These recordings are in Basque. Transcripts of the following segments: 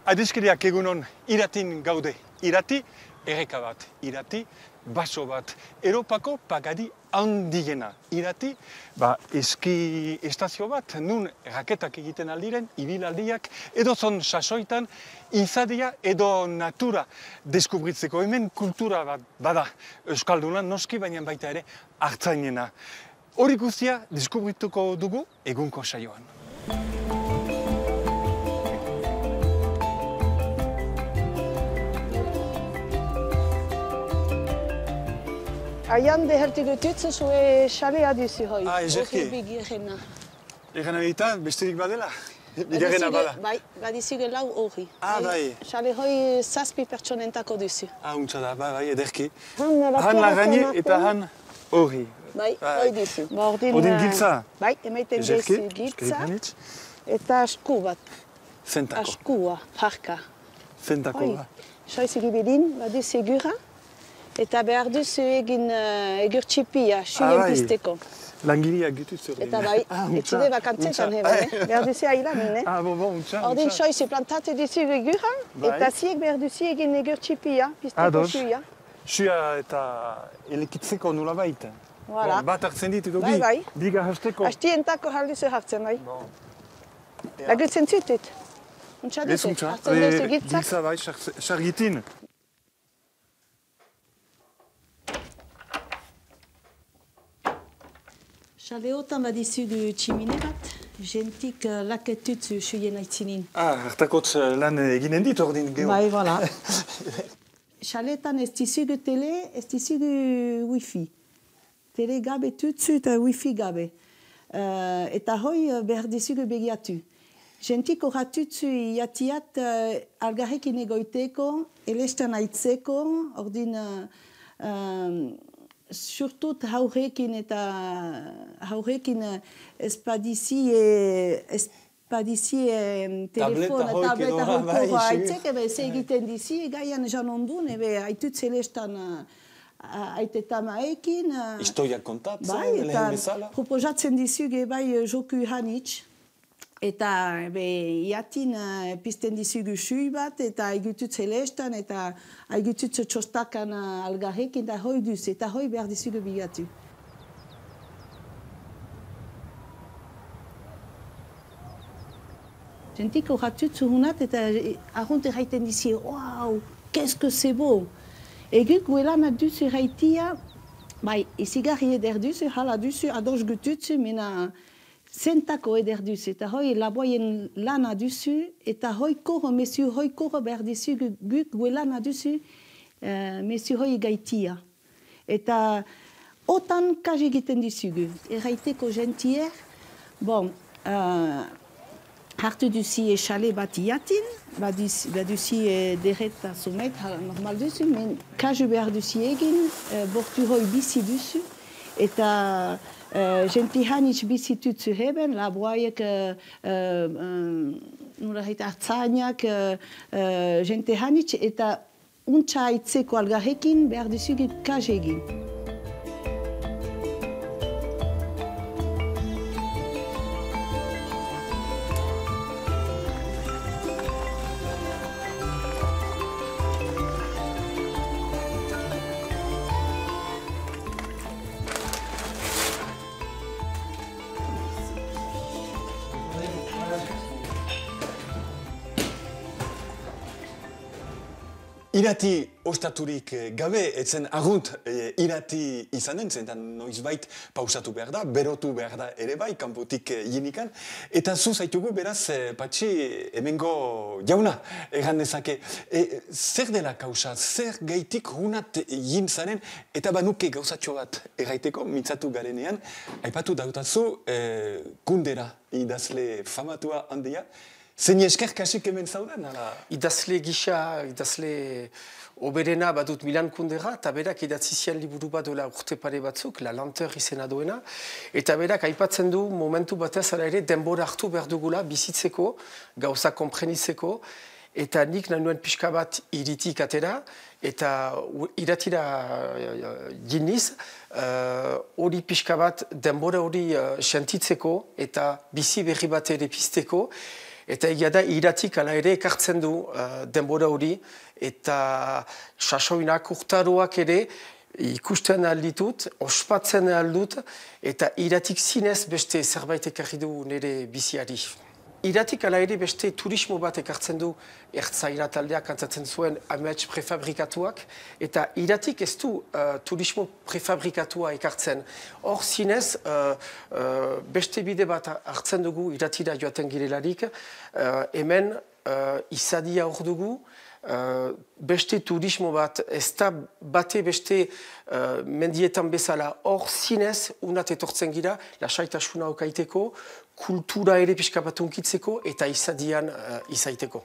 Adiskiriak egunon iratin gaude. Irati, erreka bat. Irati, baso bat. Europako pagadi handiena. Irati, eski estazio bat, nun raketak egiten aldiren, ibilaldiak, edo zon sasoitan, izadia edo natura deskubritzeko. Hemen kultura bat bada Euskalduna noski, baina baita ere hartzainena. Hori guztia deskubrituko dugu egunko saioan. Aian behertik dututzu zue xalea duzu hoi. Ezerki. Bigirena. Egan egita, besterik badela? Bigarrena bada? Bai, badizuge lau hori. Bai. Xale hoi 7 pertsonentako duzu. Untsa da, bai, ederki. Han lagaini eta han hori. Bai, hoi duzu. Odin giltza? Bai, emaiten duzu giltza. Eta asku bat. Zentako? Askua, parka. Zentako ba? Soizik ibidin, baduzu egura. Eta behar duzu egin egur txipia, xulien pizteko. Langiliak dituzu hori. Eta bai, etxude bakantzetan behar duzu ailan, ne? Untsa. Ordin soizu plantatu duzu egura, eta ziek behar duzu egin egur txipia, pizteko xuia. Xuia eta elekitzeko nula baita. Bat hartzen ditu dugi, biga hasteko. Hastientako halduzu hartzen, bai. Lagutzen zutut. Untsa duzu, hartzen duzu gitzak. Giltza bai, sargitin. Xaleotan badizugu tximine bat, jentik laketutzu xuien aitzinin. Hartakotz lan eginen dit ordin geho. Bai, voilà. Xaletan ez dizugu tele, ez dizugu wifi. Tele gabe tutzu eta wifi gabe. Eta hoi behar dizugu begiatu. Jentik horratutzu iatiat algarrekin egoiteko, elestan aitzeko, ordin... Surtut haurekin eta haurekin espadizie telefona, tableta hoiko haitzek, ze egiten dizi, gaian jan ondun, haitut zelestan aitetamaekin. Historiak kontatzen, lehen bezala. Proposatzen dizuge bai joku hanitz. Eta iatin pizten dizugu xui bat, eta haigutut zelestan, eta haigutut txostakan algarrekin, eta hoi duz, eta hoi behar dizugu bigatu. Jentik horratut zuhunat, eta arrunt erraiten dizi, wow, qu'est-ce que c'est beau! Eguk guelan duzu erraitia, bai, izigarri eder duzu, hala duzu, ados gututzu, mena... Zentako eder duzu, eta hoi laboien lana duzu, eta hoi koro, mesu hoi koro behar dizu guk guelana duzu, mesu hoi gaitia. Eta otan kaj egiten dizugu. Erraiteko gentier, hartu duzi exale bat iatin, baduzi derreta somet, normal duzu, men kaj behar duzi egin, bortu hoi bizi duzu, eta... Genti hanitz bizitutzu heben, laboaiek, hartzainak, genti hanitz, eta untsa aitzeko algarrekin behar duzugu kaj egin. Irati ostaturik gabe, etzen argunt irati izanen, zentan noizbait pausatu behar da, berotu behar da ere bai, kanpotik jinikan. Eta zu zaitugu beraz, patxi, hemengo jauna, egan dezake. Zer dela kausa, zer gaitik hunat jintzaren, eta banuke gauzatxo bat erraiteko, mintzatu garenean, aipatu dautazu, kundera idazle famatua handia, zein esker kasik hemen zaudan? Idazle gisa, idazle oberena badut Milan Kundera, eta berak idatzi zian liburu bat dola urte pare batzuk, La Lenteur izena duena, eta berak aipatzen du momentu batez ala ere denbora hartu behar dugula bizitzeko, gauza konprenitzeko, eta nik nahi nuen pixka bat iritik atera, eta iratira giniz, hori pixka bat denbora hori sentitzeko, eta bizi berri bat ere pizteko, Eta egia da, iratik ala ere ekartzen du denbora hori, eta sasoinak urtaroak ere ikusten alditut, ospatzen aldut, eta iratik zinez beste zerbait ekarri du nire biziari. Iratik ala ere beste turismo bat ekartzen du ertzaira taldeak antzatzen zuen amets prefabrikatuak, eta iratik ez du turismo prefabrikatua ekartzen. Hor zinez, beste bide bat hartzen dugu iratira joaten girelarik, hemen izadia hor dugu, beste turismo bat, ez da bate beste mendietan bezala hor zinez, unat etortzen gira, lasaitasuna okaiteko, kultura ere pixka bat unkitzeko eta izadian izaiteko.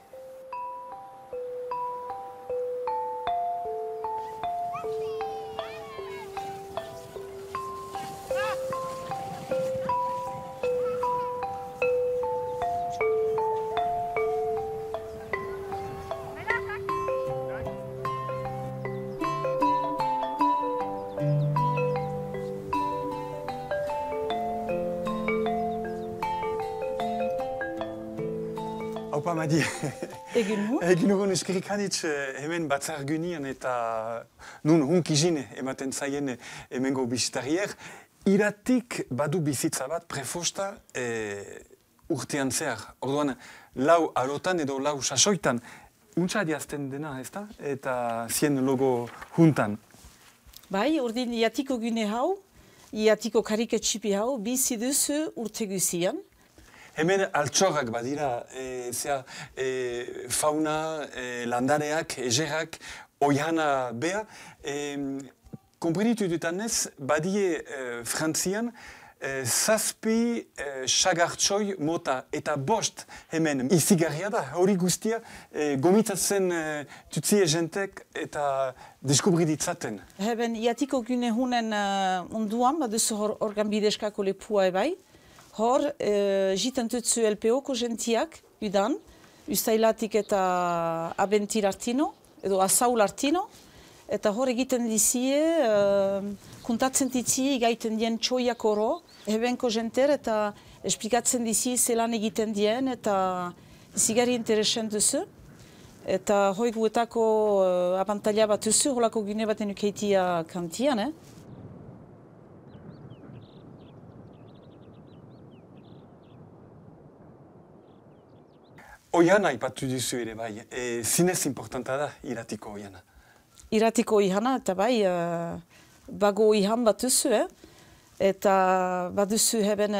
Haupa, Madi. Egin ugon eskerrik hanitz hemen batzar gunian eta nun hunkizin ematen zaien hemengo bisitarier. Iratik badu bizitza bat prefosta urtean zehar. Orduan, lau arotan edo lau sasoitan. Untsa adiazten dena, ez da? Eta zien logo juntan. Bai, ordin iatiko gune hau, iatiko kariketxipi hau, bizi duzu urte guzian. Hemen altxorrak badira, fauna, landareak, egerak, oihana bea. Komprenitu dutanez, badie Frantzian, zazpi sagartxoi mota eta bost hemen izigarria da. Hori guztia gomitzatzen tutzie jentek eta deskubriditzaten. Heben iatiko gune hunen onduan, baduzu organ bideskako lepua ebai. Hor, jiten tutzu LPO-ko gentiak, udan, ustailatik eta abentir artino, edo asaul artino, eta hor egiten dizie, kuntatzen ditzie gaiten dien txoiak oro, hebenko jenter, eta esplikatzen dizie zelan egiten dien, eta zigari interesen duzu. Eta hoi guetako abantaila bat duzu, holako gune baten ukeitia kantian, Oihana ipatu duzu ere bai, zinez importanta da iratiko oihana. Iratiko oihana eta bai, bago oihan bat duzu, eta bat duzu heben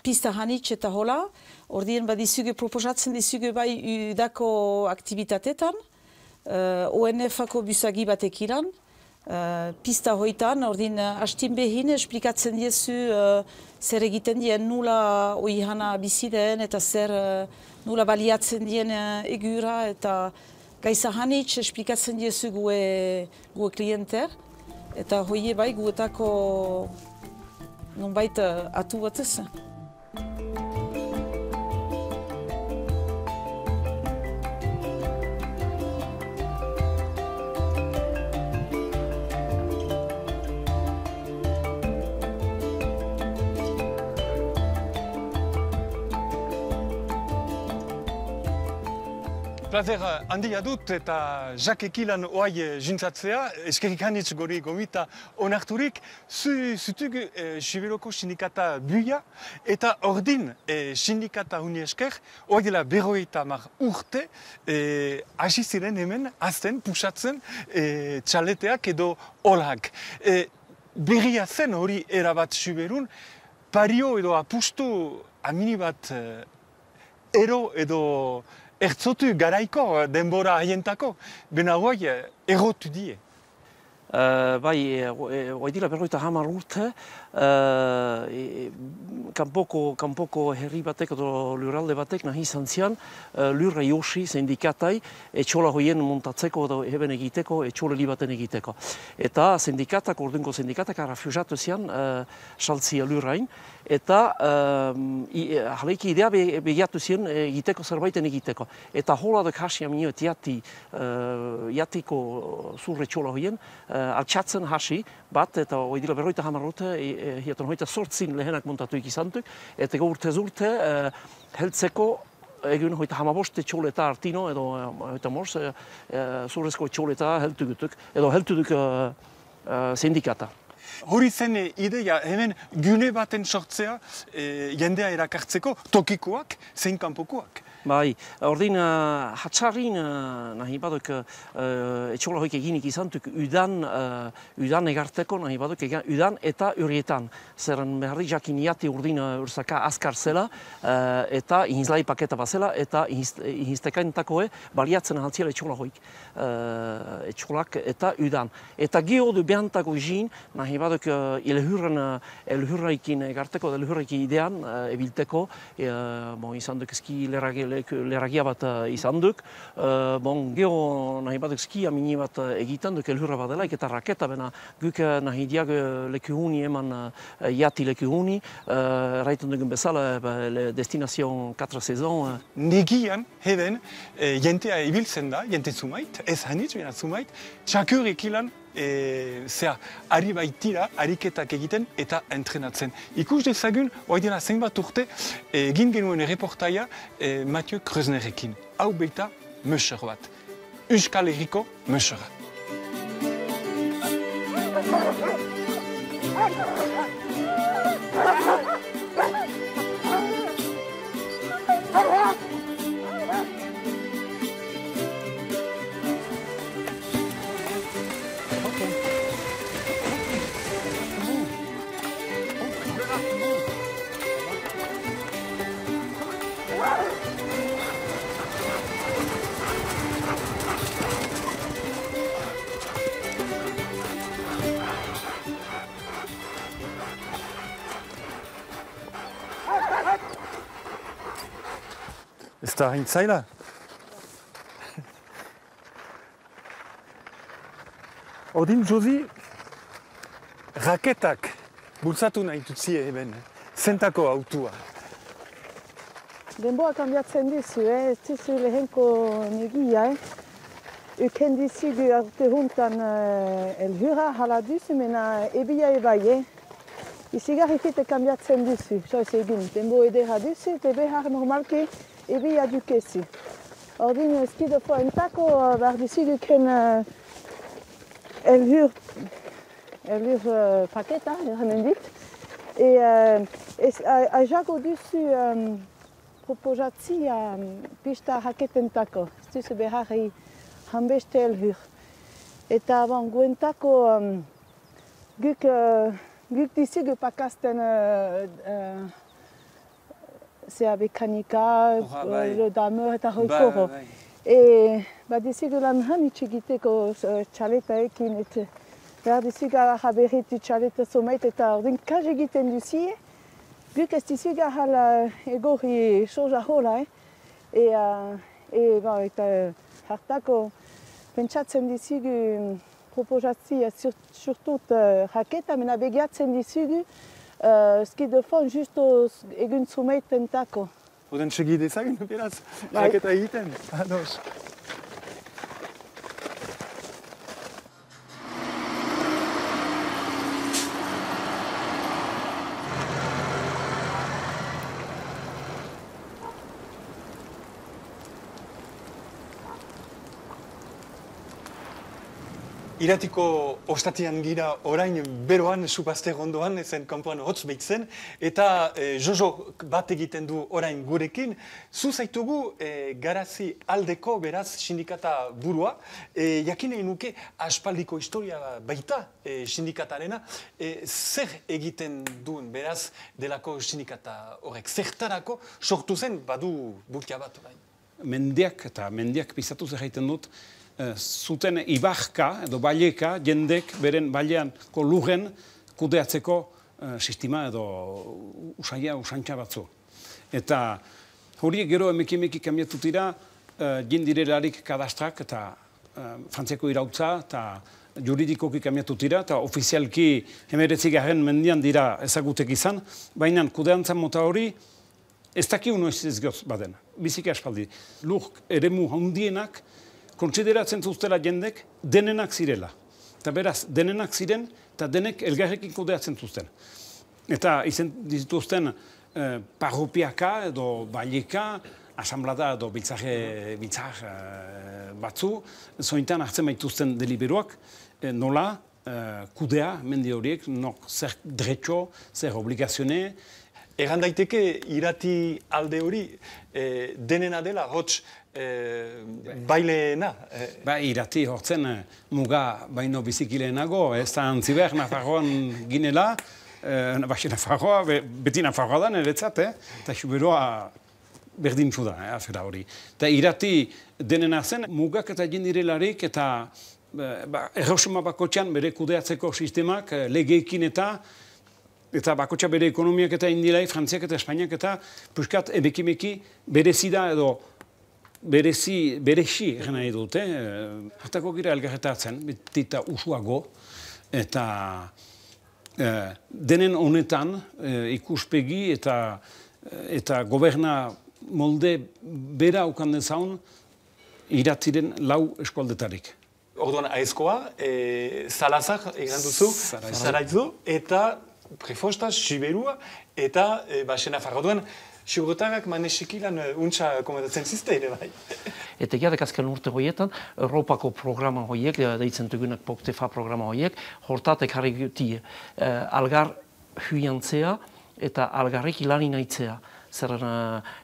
pista hanitz eta hola, ordien badizuge proposatzen dizuge bai udako aktivitatetan, ONF-ako busagi batek iran, pista hoitan, ordin hastin behin esplikatzen diezu zer egiten dien nula oihana biziden eta zer nula baliatzen dien egura eta gaiza hanitz esplikatzen diezu gue klienter eta hoie bai guetako nonbait atu batez. Plazer handia dut eta Jacques Ekilan oai jintzatzea, eskerrik hanitz gori gomita onarturik, zutug Siberoko sindikata buia eta ordin sindikata huni esker, oai dela 50 urte, hasi ziren hemen, azten, pusatzen txaleteak edo olak. Berria zen hori erabat Siberun, pario edo apustu amini bat ero edo ertzotu garaiko denbora haientako, bena guai errotu die. Bai, hoi dira 50 urte, kanpoko herri batek edo lurralde batek nahi izan zian, lurra josi sindikatai etxola hoien montatzeko edo heben egiteko, etxoleli baten egiteko. Eta ordunko sindikatak arrafusatu zian saltzia lurrain, eta jaleiki idea begiatu zian egiteko zerbaiten egiteko. Eta holadek hasi aminioet jatiko zurre etxola hoien, altxatzen hasi bat, eta hoi dira 50 urte, hiaton hoita 8 lehenak montatuik izantuk, eta urtez urte heltzeko egun hoita hamabost etxoleta artino, edo hoita mors, zurrezko etxoleta heltugutuk, edo heltuduk sindikata. Hori zen ideia, hemen gune baten sortzea jendea erakartzeko tokikoak, zein kanpokoak. Bai, ordin hatxarrin nahi baduk etxola hoik eginik izantuk udan egarteko nahi baduk udan eta urietan. Zeren beharri jakin iati urdin urzaka azkar zela eta ihinzlai paketa bazela eta ihinztekaintakoe baliatzen ahaltziela etxola hoik. Etxolak eta udan. Eta geodu behantako izin nahi baduk elhurraikin egarteko, elhurraikin idean ebilteko izan duk eski leragia bat izan duk. Geho nahi baduk skia mini bat egiten duk elhurra badelaik eta raketa bena guk nahi diag lekuhuni eman jati lekuhuni. Raiten dugun bezala destinazion 4 sezon. Negian, heben, jentea ibiltzen da, jente zumait, ez hanitz, bena zumait, txakurik ilan ari baitira, ariketak egiten eta entrenatzen. Ikus dezagun, hori dela zenbat urte, egin genuen reportaia Mathieu Kröznerekin. Hau baita Möser bat. Euskal Herriko Mösera. Ez da hain zaila? Odin Josi, raketak bultzatu nahi tutzie eben, zentako autua. Denboa kanbiatzen dizu, ez dizu lehenko negia. Uken dizigu arte juntan elhurra hala duzu, mena ebia ebai. Izigarrikite kanbiatzen duzu, soiz egin. Denbo edera duzu, te behar normalki ebia dukezi. Ordin eskidofo entako behar dizigu ken elhur paketa, eranen dit. Ajago duzu proposatzia pista raketentako. Ez duzu beharri hanbeste elhur. Eta guentako guk dizigu pakasten zea mekanika, lodameur eta hoikoro. Dizigu lan hanitz egiteko txaletaekin, behar dizigu ara berritu txaleta somait eta ordin kaj egiten duzie, guk ez dizigu hala egorri soja hola. Eta hartako pentsatzen dizigu proposatzia surtut raketa, mena begiatzen dizigu skidofon justo egun zumeitentako. Oden segi dezagun, beraz, raketa egiten. Ados. Iratiko ostatian gira orain beroan, supazter ondoan, ezen kanpoan hotz behitzen, eta Jojo bat egiten du orain gurekin. Zu zaitugu garazi aldeko beraz sindikata burua, jakinei nuke aspaldiko historia baita sindikatarena, zer egiten duen beraz delako sindikata horrek, zertarako sortu zen badu bultia bat orain. Mendiak pizatu zer egiten dut, zuten ibarka edo baileka jendek beren baileanko lurren kudeatzeko sistema edo usantxa batzu. Eta horiek gero emeki kamiatu dira jindirelarik kadastrak eta Frantziako irautza eta juridikoki kamiatu dira eta ofizialki 19. mendian dira ezagutek izan, baina kudeantza mota hori ez dakiu noiz ez goz baden, biziki aspaldi. Lur eremu handienak kontsideratzen zuztela jendek denenak zirela. Eta beraz, denenak ziren eta denek elgarrekin kudeatzen zuzten. Eta izen dituzten parropiaka edo baileka, asamblada edo biltzar batzu, zointan hartzen baituzten deliberuak, nola kudea mendi horiek, zer dretxo, zer obligazione. Egan daiteke irati alde hori denena dela, hots baileena. Irati hortzen muga baino bizikilenago, ez da antziber Nafarroan ginela, Nafarroa, beti Nafarroa da niretzat, eta xuberoa berdintzu da, afera hori. Eta irati denena zen, mugak eta jendirelarik eta errosuma bakotxan bere kudeatzeko sistemak legeekin eta bakotxa bere ekonomiak eta indilai, Frantziak eta Espainiak eta puskat ebekimeki berezi da edo berezi egin nahi dute. Hartako gira elgarretatzen, betita usuago eta denen honetan ikuspegi eta goberna molde bera ukan dezaun iratiren lau eskualdetarik. Orduan aizkoa, Salazar egan duzu, Zaraitzu, eta Prefosta, Siberua, eta Baxena Farroduan, Xurrotarrak manesikilan untsa komentatzen zizte ere bai. Eta jadek azken urte horietan, Europako programa horiek, deitzen dugunak POCTEFA programa horiek, hortatek harri guti algar huiantzea eta algarrik ilani nahitzea. Zerren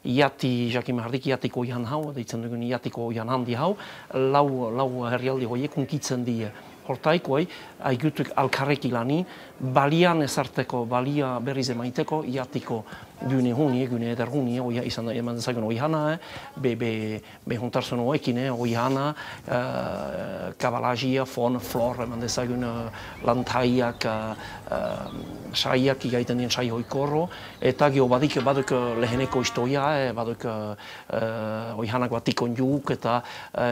iati, jakin mahardik iatiko oian hau, deitzen dugun iatiko oian handi hau, lau herrialdi horiek unkitzen die. Hortaikoai, aigutuk alkarrek ilani, balian ezarteko, balia berriz emaiteko, iatiko gune hunie, gune eder hunie, izan eman dezagun oihana, be juntarzun oekin, oihana, kabalajia, fon, flor, eman dezagun lantaiak, saiak, igaiten dien sai hoikorro, eta geho baduk leheneko istoia, baduk oihanak batikon juk, eta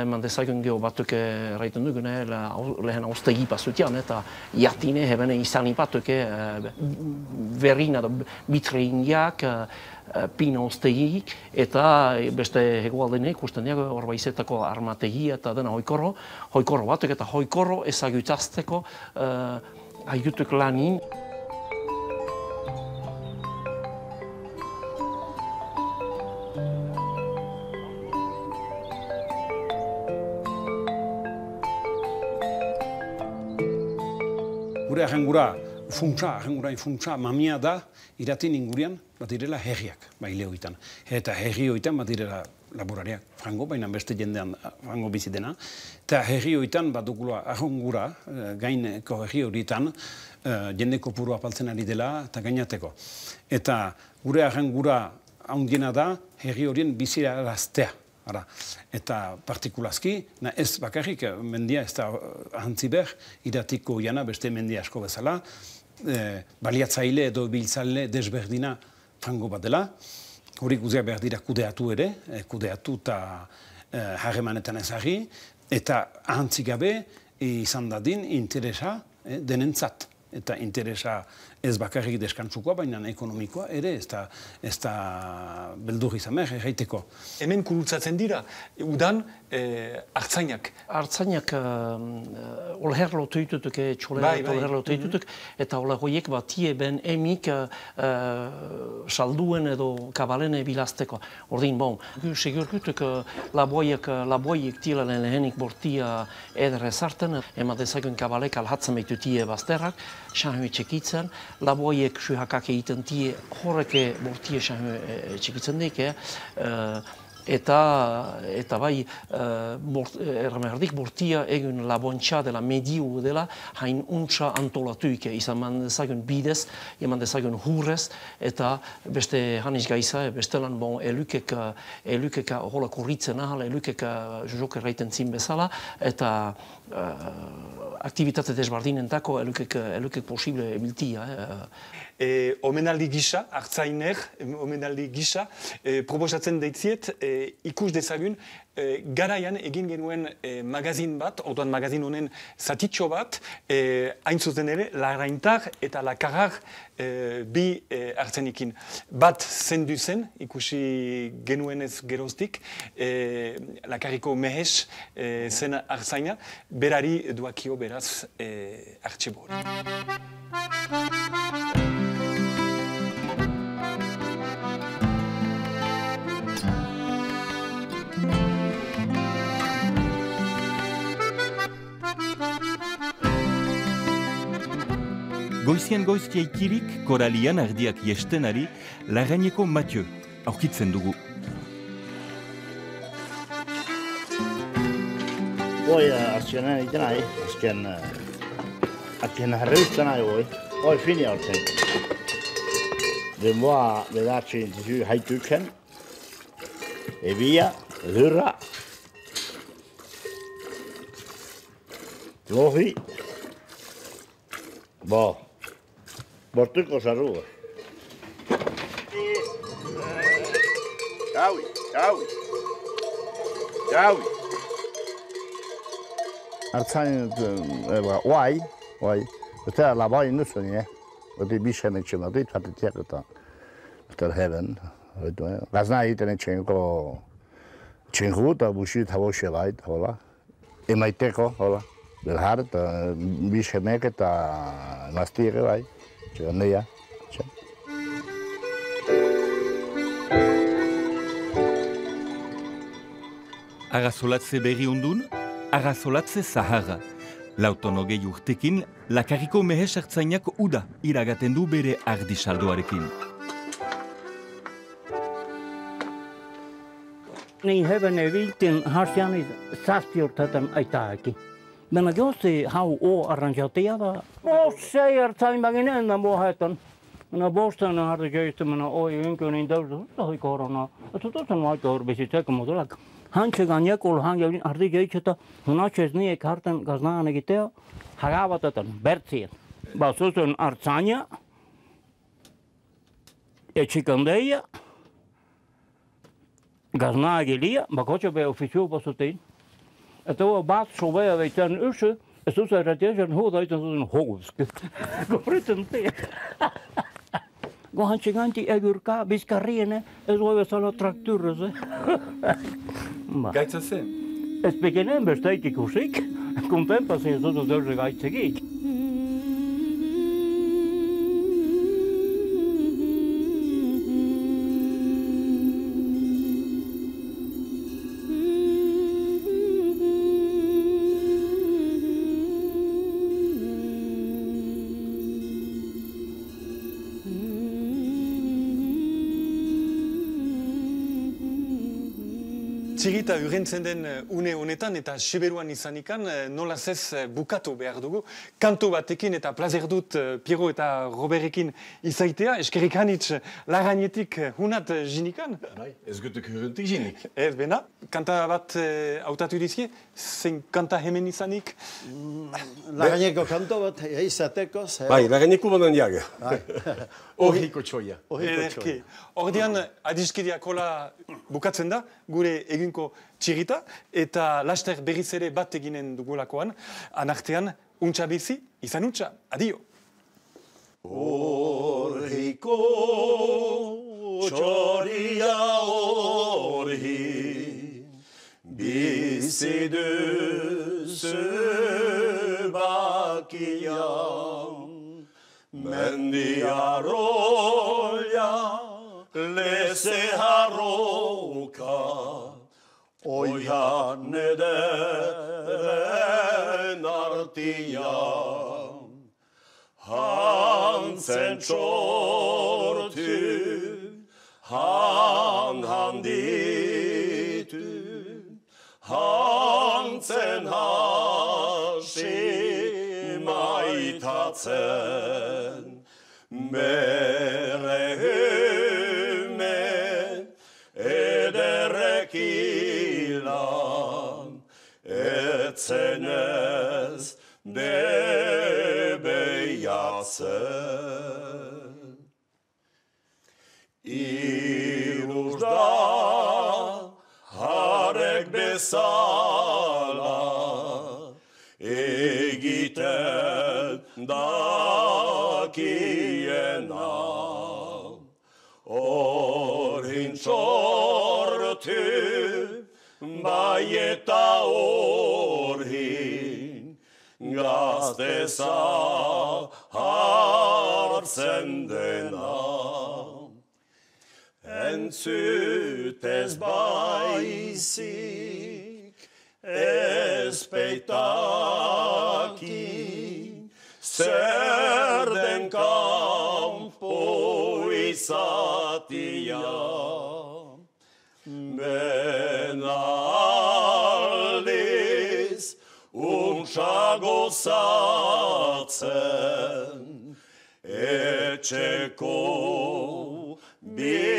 eman dezagun geho batuk raiten dugun, lehen austegi pasutian, eta iatine hebene izani batuk, verina, bitreingiak, pina ostegik, eta beste hegoaldenek usten diago horbaizetako armategia eta dena hoikorro batuk eta hoikorro ezagutazteko aigutuk lanin. Gure ahengurain funtsa mamia da iratin ingurian bat direla herriak baile hoitan. Eta herri hoitan bat direla laborariak frango, baina beste jendean frango bizitena. Eta herri hoitan bat dugula ahengura, gaineko herri horietan, jende kopuru apaltzen ari dela eta gainateko. Eta gure ahengura handiena da herri horien bizira araztea. Eta partikulazki, ez bakarrik mendia ez da ahantziber, iratiko jana beste mendia asko bezala, baliatzaile edo biltzaile desberdina frango bat dela, hori guziak behar dira kudeatu ere, kudeatu eta harremanetan ezagri, eta ahantzik gabe izan dadin interesa denentzat. Eta interesa ez bakarrik deskantzukoa, baina ekonomikoa ere ez da beldur izan behar, erraiteko. Hemen kurutzatzen dira, udan artzainak. Artzainak olher lotu ditutuk, txolerat olher lotu ditutuk, eta olher horiek batie ben emik salduen edo kabalene bilazteko. Ordin, bon, segurkutuk laboiek tila lehenik bortia edere zarten, emadezagun kabalek alhatzen behitutie bazterrak, xanhu txekitzen, laboiek suhakak egiten tie horreke bortie xanhu txekitzen dik, eta bai erramerdik bortia egun labontxa dela mediu dela hain untsa antolatuik izan man dezagun bidez, eman dezagun hurrez, eta beste hanis gaiza, bestelan bon elukeka hola kurritzen ahal, elukeka jok erraiten zin bezala, eta aktivitate desbardinentako elukek posible ebiltia. Omenaldi gisa, artzainek, omenaldi gisa, proposatzen deitziet, ikus dezagun, garaian egin genuen magazin bat, orduan magazin honen zatitxo bat, hain zuzen ere, Larraintar eta Lakarrar bi hartzenikin. Bat zendu zen, ikusi genuenez geroztik, Lakarriko mehes zen hartzaina, berari duakio beraz artxibo hori. Goizien goizkia ikirik, koralian ardiak jestenari, Larraineko Mathieu, aurkitzen dugu. Voi azkenan egiten nahi, azken harreuzten nahi voi. Hoi fini hartzen. Denboa bedatzen dizu haituken, ebia, lurra, lohi, bortuko zarrua. Jaui. Hartzain, oai, eta labai nuzuen, Oti bixen etxen dut, fatetiak eta heben. Gazna egiten etxenko txengu eta buxi eta boxe bait, hola. Emaiteko, hola. Belhar eta bixenek eta emaztieke bai, txegan deia. Agazolatze berri undun, agazolatze zaharra. Lautonogei urtekin, Lakarriko mehe sartzainak uda iragaten du bere ardisaldoarekin. Niin heben eviltin harsiani zazpiurtetan aitaaki. Mena josi hau arranjatia da. Sei hartzain bagin ennän muohetan. Minä bostan harti keistemänä oi ynkönin täysin tahi korona. Että tuossa aika urbisit sekä Hanchegan jakul hangin harti keiseta. Hunaches niin hartan gaznaanegi teo. Hagavatatan bertsien. Basusun artsania. Ja chikandeja. Gaznagelia, bakoche be officieel pasutin. Että on baat sovea veitän yssä. Ja tuossa ratiajan huudaitan tuon hoguski. Koriten te. Kohan chiganti egurka biskariene, es voivat olla trakturse. Gaitza se. Es begenen besteiki kusik. Kun tempasin tuossa dörre gaitsekin. Txirita urentzen den une honetan eta Siberuan izanikan nolaz ez bukatu behar dugu. Kantu batekin eta plazer dut Piero eta Robertekin izaitea. Eskerrik hanitz Larrainetik hunat jinikan. Bai, ez gutuk hurrentik jinik. Ez bena, kanta bat hautatu dizie, zein kanta hemen izanik? Larraineko kanto bat izateko. Bai, Larraineko bonan jaga. Ohiko txoia. Ederki. Ordean adiskideak hola bukatzen da, gure eginko txirita, eta laster berriz ere bat eginen dugulakoan, anartean, untxa bizi, izan untxa, adio. Ohiko txoria orhi, bizi duzu bakian, mendiaroia, leze harroka, oian ederen artian, hantzen txortu, handitu, hantzen hasi maitatzen, bere hymen ederekilan, etzenez debeiatzen. Iruz da harek bezala egiten dakiena, orin txortu bai eta orin gazteza hartzen dena. Entzutez baizik ez peitaki, zer den zatia. Benaliz untsa gozatzen, etxeko bizitzia.